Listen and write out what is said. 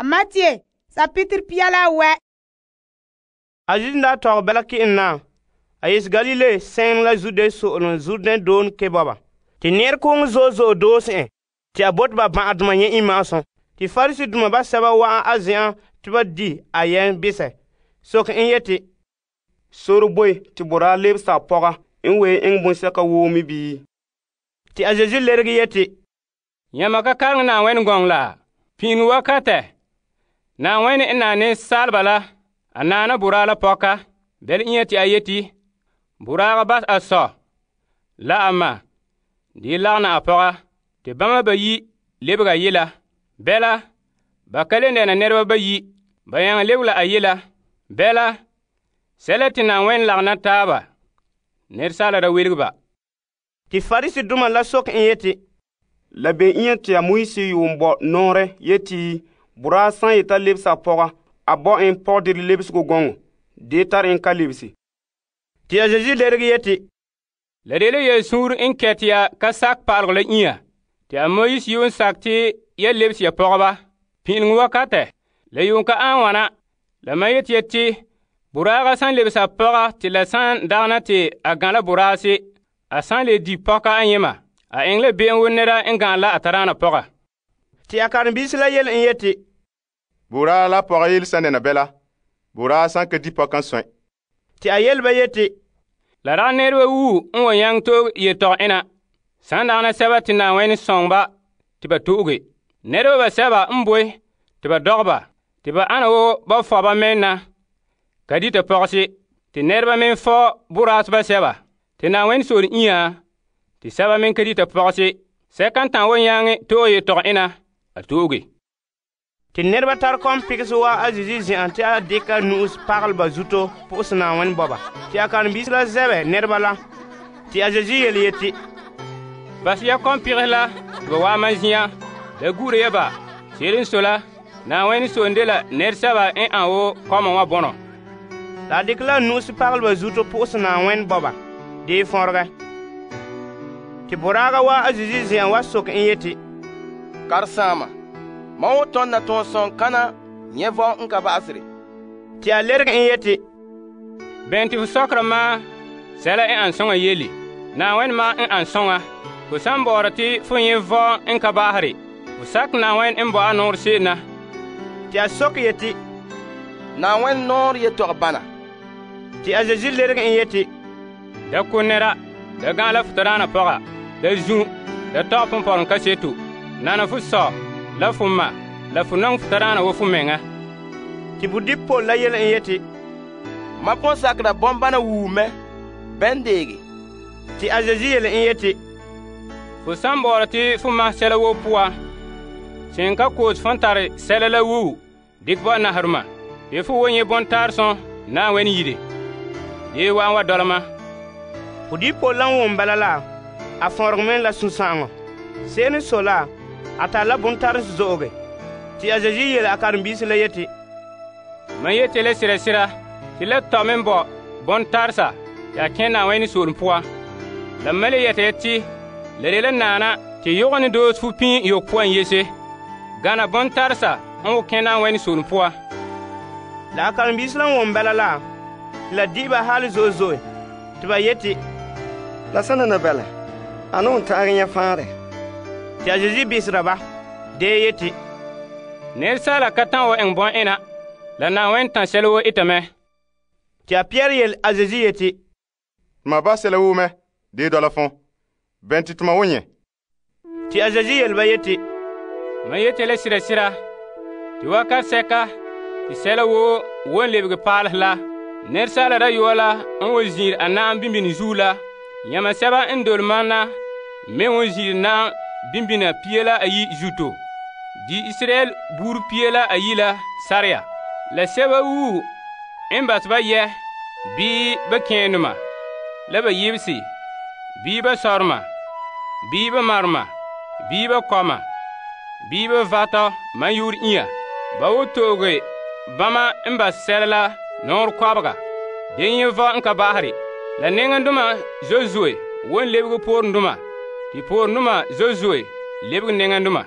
Matthew, sapitr pia la wɛ. A Yesu daa tɔgɛ bɛla ke'en na. A yese Galile sɛɛnrɛ la Zude so'olom Jordan doone ke bɔba. Te nɛrekooŋɔ zo'e zo'e doose en te a bote ba ban'ahedoma nyɛ' iŋma'asum. Te Pariseedoma basɛba wa'an a zen'an te ba di a yɛm besɛ, soke en yeti, sore boe te boraa lebesa a pɔga n ween eŋɛ bonsɛka woo me bii? Te a Yesu leregɛ yeti, Yãmba ka karegɛ Na'ayenɛ gɔŋɔ la? Pin'iŋe wakatɛ, Na'ayenɛ n naa nɛresaaleba la, a naana boraa la pɔka. Bɛla iŋa te a yeti, boraaga bas a sɔ la a ma de lagana a pɔga, te bama bayi lebega a yela. Bɛla, ba ka le dɛna nɛreba bayi, ba nyaŋɛ lebege la a yela. Bɛla, sɛla te Na'ayenɛ lagana taaba, nɛresaala da welege ba. Te Pariseedoma la soke en yeti, la be iŋa te a Moses yuun bɔ nɔɔrɛ yeti boraa san yeta lebesa a pɔga, a bɔ en pɔgɔdire lebesego gɔŋɔ, de tare en ka lebese. Te a Yesu leregɛ yeti, la de la yelsuur n kɛt ya ka sak pa'alegɔ la iŋa, te a Moses yuun sak te ya lebese ya pɔgɔba. Pin'ileŋe wakatɛ, la yuun ka an wana. La mam yeti ya te boraaga san lebese a pɔga te la san dagana te a gan la boraase, a san le di pɔka ayema, a eŋɛ la be'em wo nɛra n gan la a tadaana pɔga. Te a karen-biisi la yele en yeti, boraa la pɔga yele san dɛna bɛla, boraa san ka di pɔka n sɔe. Te a yele ba yeti, la dagɛ nɛreba wuu n wa nyaŋɛ to'oge yetɔgɔ ena, san dagana sɛba te Na'ayenɛ sɔŋ ba te ba to'oge. Nɛreba basɛba n boe te ba dɔgɛ ba, te ba ana wo ba fɔ ba mɛn na ka dita pɔgese, te nɛreba me fɔ boraase basɛba, te Na'ayenɛ sore iŋa, te sɛba me ka dita pɔgese. Sɛka n ta'an wa nyaŋɛ to'oge yetɔgɔ ena, a to'oge. Te nɛreba tare kɔm pigese wa a Yesu zen'an te a deka nu'us pagelɛ ba zuto pɔgɔse Na'ayenɛ bɔba. Te a karen-biisi la zɛbɛ nɛreba la. Te a Yesu yele yeti, bas ya kɔm pigese la te ba waɛ mam zin'an, la gure ya ba. Se'ere n sɔe la, Na'ayenɛ soone de la nɛresɛba n an wo kɔma wa bɔnɔ. La a dekɛ la nu'us pagelɛ ba zuto pɔgɔse Na'ayenɛ bɔba dee fɔregɛ. Te boraaga wa a Yesu zen'an wa soke en yeti, Karesaama, mam wo tɔn na tɔn sɔŋ kana nyɛ vɔn n ka ba'asere. Te a leregɛ en yeti, bɛn te fu sɔkera ma sɛla n an sɔŋa yele, Na'ayenɛ ma n an sɔŋa. Fu san bɔɔra te fu nyɛ vɔn n ka ba'asere, fu sakɛ Na'ayenɛ n bo a nɔɔrɛ se'em na. Te a soke yeti, Na'ayenɛ nɔɔrɛ yetɔgɔ bana. Te a Yesu leregɛ en yeti, da ko nɛra, da gã la fu tadaana pɔga, da zu, da tɔgɛ pumpɔrɔŋ kaseto, nana fu sɔ, la fu ma, la fu nɔŋɛ fu tadaana wo fu meŋa. Te budipol la yele en yeti, mam pɔn sakera bɔmbana wuu mɛ, bɛn deege. Te a Yesu yele en yeti, fu san bɔɔra te fu ma sɛla woo puan, sen ka koos fon tare sɛla la wuu dikɛ bo naharema, te fu wo nyɛ bɔntaar sõn Na'ayenɛ yire. Dee wa'an wa dɔlema. Budipol la wom bala la, a fɔregɛ mɛ la sũ-sã'aŋɔ. Se'ere n sɔe la, a tare la bontarese zo'oge. Te a Yesu yele a karen-biisi la yeti, mam yeti la sira te la tɔ me bɔ bɔntaresa ya kẽ Na'ayenɛ soolem puan. La mam le yɛta ya te la de la naana te yɔgɔ ne doos fu pĩi yok puan yese, gana bɔntaresa n wo kẽ Na'ayenɛ soolem puan. La a karen-biisi la wom bala la, te la di'i ba hali zo'e zo'e, te ba yeti, la sãn dɛna bɛlɛ, a ne n ta'agɛ nyɛ fãare. Te a Yesu bisera ba, dee yeti, nɛresaala ka ta'an wa eŋɛ bɔn-ena, la Na'ayenɛ tã sɛla woo ita mɛ. Te a Pɩyɛɛr yele a Yesu yeti, Tuma ba sɛla woo mɛ, dee dɔla fõo. Bɛn te tuma wo nyɛ? Te a Yesu yele ba yeti, mam yeti la sira te wakat sɛka te sɛla woo won lebege paalesɛ la, nɛresaala dayɔa la n wa ziir a na'am bimbini zuo la, yãma sɛba n dole mam na me won ziir na'am bimbina pia la ayi zuto. Di Israel buur pia la ayi la sarya. La sɛba wuu n bas ba yɛ, bii ba kẽenema, la ba yibsi, bii ba sɔrema, bii ba marema, bii ba kɔma, bii ba vatɔ man yʋʋr inya. Ba wo tooge bãmba n bas sɛla la nɔɔrɛ kɔbega, de yẽ vɔ n ka baasere. La neŋendoma zoe zoe won lebege poorendoma, te poorendoma zoe zoe lebege neŋendoma.